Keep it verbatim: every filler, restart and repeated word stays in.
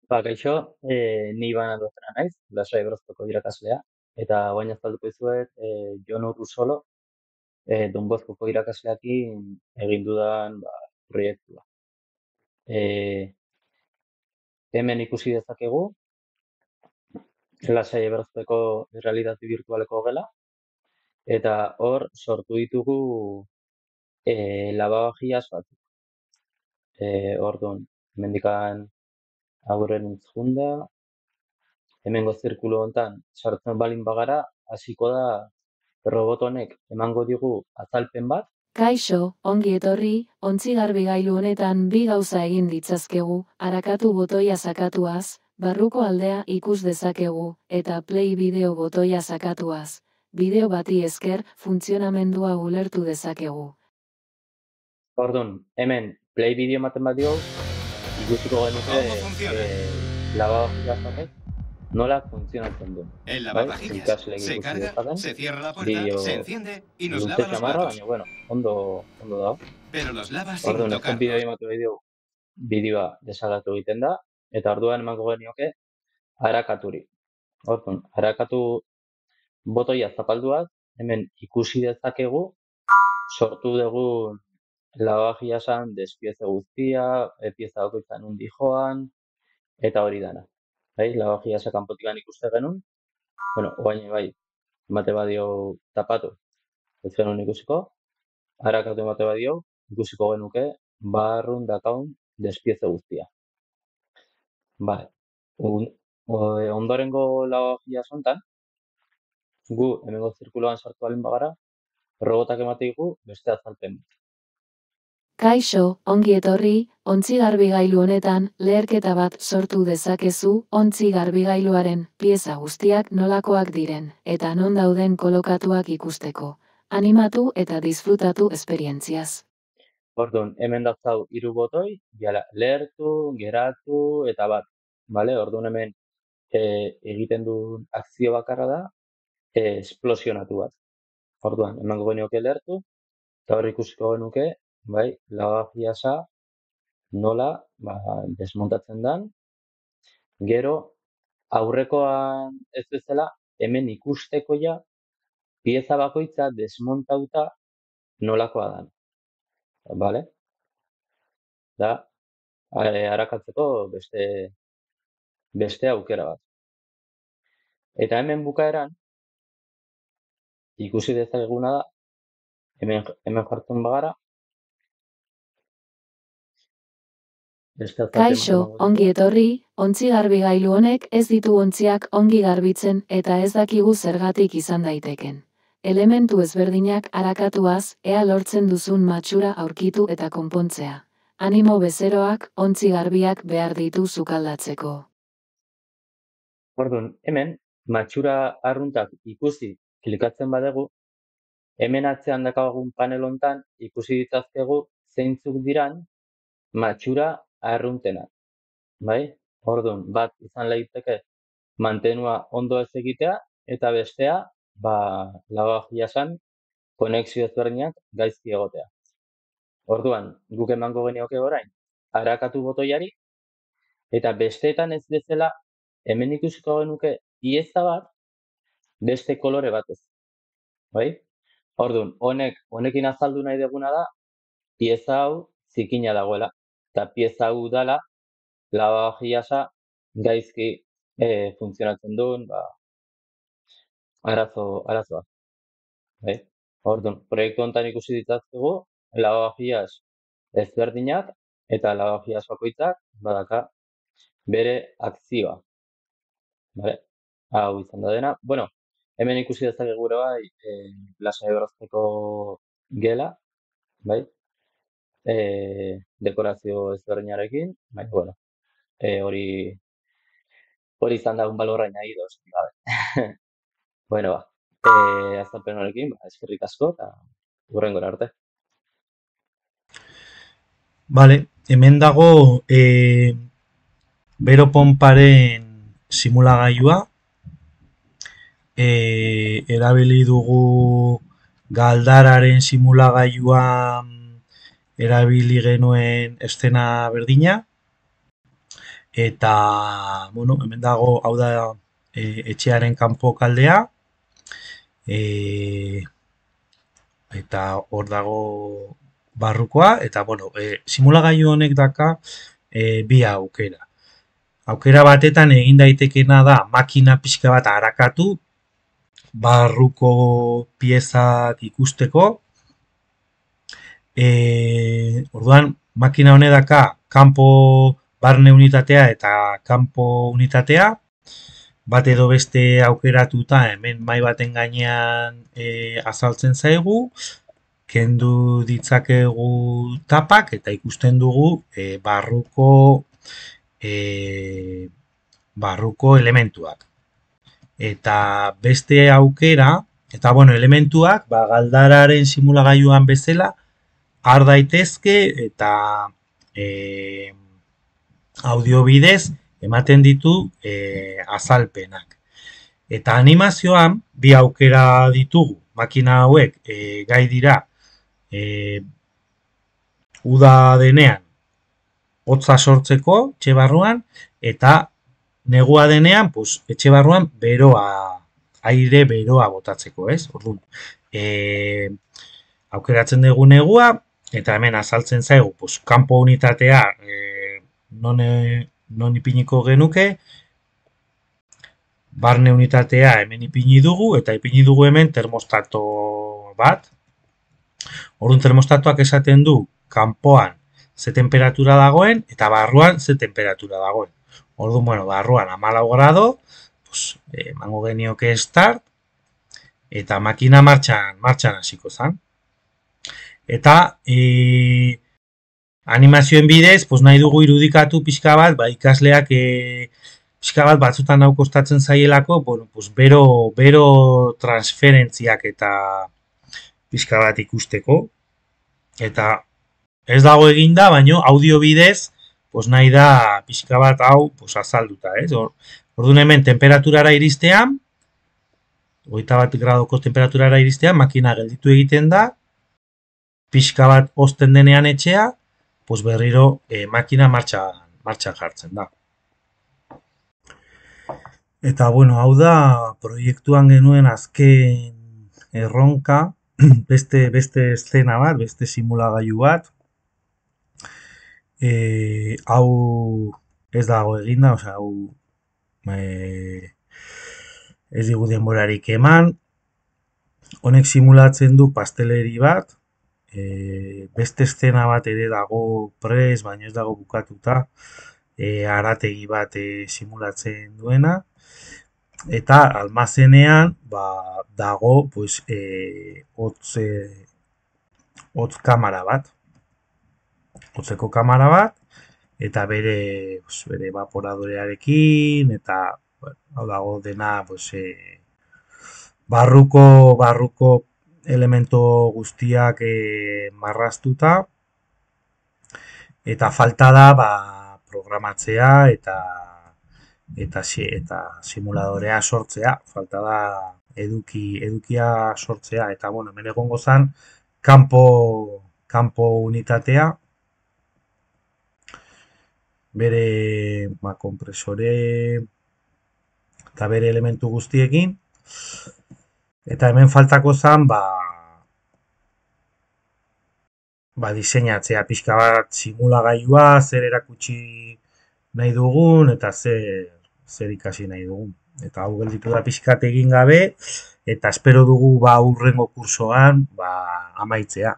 Ba, kaixo, eh, ni Iban Aldozena naiz, Lasai Broztoko irakaslea, eta guain azalduko dizuet eh, Jon Urrusolo, eh, Don Bozkoko irakasleakin egin dudan ba, proiektua. Eh, Hemen ikusi dezakegu, Lasai Broztoko errealitate virtualeko gela, eta hor sortu ditugu eh, lababajiaz batzuk. Eh, Orduan, hemendikan aurren junda, hemengo zirkulu hontan sartzen balin bagara, hasiko da robot honek emango digu azalpen bat. Kaixo, ongi etorri, ontzi-garbigailu honetan bi gauza egin ditzazkegu, arakatu botoia sakatuaz, barruko aldea ikus dezakegu, eta play bideo botoia sakatuaz. Bideo bati esker, funtzionamendua ulertu dezakegu. Orduan, hemen play bideo ematen bat diogu, ikusiko genuke ¿Cómo funciona? eh, lavavajillas honek nola funtzionatzen duen. El Bai, lavavajillas ikasleek se ikusi carga, dezaten, se cierra la puerta, bideo se enciende y nos luze lava los xamarra, platos. baina, bueno, ondo, ondo dago. Pero los lava sin Orduan, ezken bideo tocarlos. ematu diogu, bideoa desalatu egiten da, eta orduan emango genioke arakaturi. Orduan, arakatu botoia zapalduaz, hemen ikusi dezakegu sortu dugun lavavajillasa despieze guztia, e, pieza bakoitza nundi joan, eta hori dana. Bai, lavavajillasa kanpotikan ikuste genuen, bueno, oain bai, emate badio tapatu, ez genuen ikusiko, arakatu emate badio, ikusiko genuke, barrun dakaun despieze guztia. Vale. Un, o, ondorengo lavavajillas hontan, gu hemengo zirkuloan sartu alin bagara, robotak emate digu beste azalpen. Kaixo, ongi etorri, ontzi-garbigailu honetan leherketa bat sortu dezakezu ontzi-garbigailuaren pieza guztiak nolakoak diren, eta non dauden kolokatuak ikusteko. Animatu eta disfrutatu esperientziaz. Orduan, hemen dauzkau hiru botoi, jala, lehertu, geratu, eta bat. Vale? Orduan hemen e, egiten duen akzio bakarra da, e, esplosionatu bat. Orduan, emango genioke lehertu, eta hor ikusiko genuke, bai, lavavajillasa nola ba, desmontatzen dan. Gero, aurrekoan ez bezala, hemen ikusteko ja, pieza bakoitza desmontauta nolakoa dan. Vale? Da, e, arakatzeko beste beste aukera bat. Eta hemen bukaeran, ikusi dezakeguna da, hemen, hemen jartzen bagara, beste azalpen bat Kaixo, emango ongi digu. etorri, ontzi-garbigailu honek ez ditu ontziak ongi garbitzen eta ez dakigu zergatik izan daiteken. Elementu ezberdinak arakatuaz, ea lortzen duzun matxura aurkitu eta konpontzea. Animo bezeroak, ontzi garbiak behar ditu sukaldatzeko. Orduan, hemen, matxura arruntak ikusi klikatzen badegu, hemen atzean dakagun panel hontan ikusi ditzazkegu zeintzuk diran matxura arruntenak. Bai? Orduan, bat izan daiteke mantenua ondo ez egitea, eta bestea, ba, lavabajillasan konexio ezberdinak gaizki egotea. Orduan, guk emango genioke orain, arakatu botoiari, eta besteetan ez bezala, hemen ikusiko genuke pieza bat, beste kolore batez. Bai? Orduan, honek, honekin azaldu nahi duguna da, pieza hau zikina dagoela. Eta pieza hau dala, lavavajillasa gaizki e, funtzionatzen duen, ba, arazo, arazoa. Bai? Orduan, proiektu honetan ikusi ditzazkegu, lavavajillas ezberdinak, eta lavavajillas bakoitzak badaka bere akzioa. Vale? Hau izan da dena. Bueno, hemen ikusi dezakegu gure bai, e, Lasai Brozteko gela, bai? E, dekorazio ezberdinarekin, bai, bueno, e, hori hori izan da un balorra añadido, esan gabe. Bueno, ba, e, azalpen honekin, ba, eskerrik asko, eta hurrengora arte. Vale, hemen dago e, bero ponparen simulagailua. E, erabili dugu galdararen simulagailua erabili genuen estena berdina. eta, bueno, hemen dago, hau da e, etxearen kanpo kaldea, e, eta hor dago barrukoa, eta, bueno, e, simulagailu honek daka e, bi aukera. Aukera batetan egin daitekena da makina pixka bat arakatu, barruko piezak ikusteko. E, orduan, makina honedaka kanpo barne unitatea eta kanpo unitatea, bat edo beste aukeratuta hemen mahai baten gainean e, azaltzen zaigu, kendu ditzakegu tapak eta ikusten dugu e, barruko e, barruko elementuak. Eta beste aukera, eta bueno, elementuak, ba, galdararen simulagailuan bezala, har daitezke eta e, audio bidez ematen ditu e, azalpenak. Eta animazioan, bi aukera ditugu, makina hauek e, gai dira e, uda denean hotza sortzeko etxe barruan, eta negua denean, pues, etxe barruan beroa, aire beroa botatzeko, ez? Orduan, e, aukeratzen dugu negua, eta hemen azaltzen zaigu, pues, kanpo unitatea e, non, e, non ipiniko genuke, barne unitatea hemen ipini dugu, eta ipini dugu hemen termostato bat. Orduan, termostatoak esaten du kanpoan ze temperatura dagoen, eta barruan ze temperatura dagoen. Orduan, bueno, barruan hamalau grado, pues, emango genioke start, eta makina martxan, martxan hasiko zen. Eta e, animazioen bidez, pues, nahi dugu irudikatu pixka bat, ba, ikasleak e, pixka bat batzutan hau kostatzen zaielako, bueno, pues, bero, bero transferentziak eta pixka bat ikusteko. Eta ez dago eginda, baino audio bidez, pues, nahi da pixka bat hau pues, azalduta. Ez? Orduan hemen temperaturara iristean, hogeita bat gradoko temperaturara iristean, makina gelditu egiten da, pixka bat osten denean etxea, pues berriro eh, makina martxan, martxan jartzen da. Eta, bueno, hau da proiektuan genuen azken erronka, beste, beste eszena bat, beste simulagailu bat. E, hau ez dago eginda, osea, hau e, ez digu denborarik eman. Honek simulatzen du pasteleri bat, e, beste eszena bat ere dago prez, baina ez dago bukatuta, e, arategi bat e, simulatzen duena. Eta almazenean ba, dago pues, e, hotz, e, hotz kamera bat. Hotzeko kamera bat, eta bere, pues, bere evaporadorearekin, eta bueno, hau dago dena pues, e, barruko, barruko elemento guztiak e, marraztuta, eta falta da ba, programatzea eta eta eta simuladorea sortzea, falta da eduki edukia sortzea, eta bueno, hemen egongo zen kanpo kanpo unitatea, bere ba, kompresore eta bere elementu guztiekin, eta hemen faltako zen ba, ba diseinatzea pixka bat simulagailua, zer erakutsi nahi dugun eta zer, zer ikasi nahi dugun. Eta hau gelditu da pixkat egin gabe, eta espero dugu ba hurrengo kursoan ba, amaitzea.